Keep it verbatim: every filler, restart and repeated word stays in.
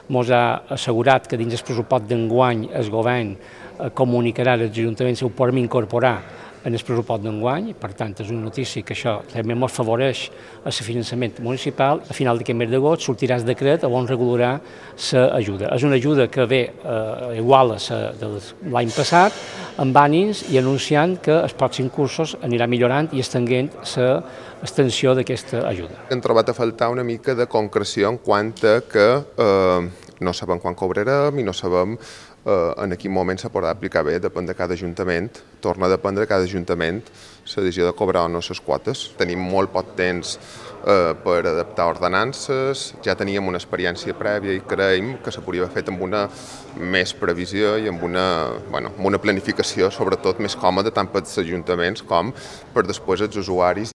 ens ha assegurat que dins el pressupost d'enguany el govern comunicarà als ajuntaments si ho podem incorporar en el pressupost d'enguany. Per tant, és una notícia que això també ens favoreix el finançament municipal. A final d'aquest mes d'agost sortirà el decret on regularà l'ajuda. És una ajuda que ve eh, igual a la de l'any passat, amb ànims i anunciant que els pròxims cursos anirà millorant i estenent l'extensió d'aquesta ajuda. Hem trobat a faltar una mica de concreció en quant a que eh, no sabem quan cobrarem i no sabem en quin moment se podrà aplicar bé, depèn de cada ajuntament, torna a dependre de cada ajuntament la decisió de cobrar o no les quotes. Tenim molt poc temps per adaptar ordenances, ja teníem una experiència prèvia i creiem que se podria haver fet amb una més previsió i amb una, bueno, amb una planificació sobretot més còmoda tant per als ajuntaments com per després els usuaris.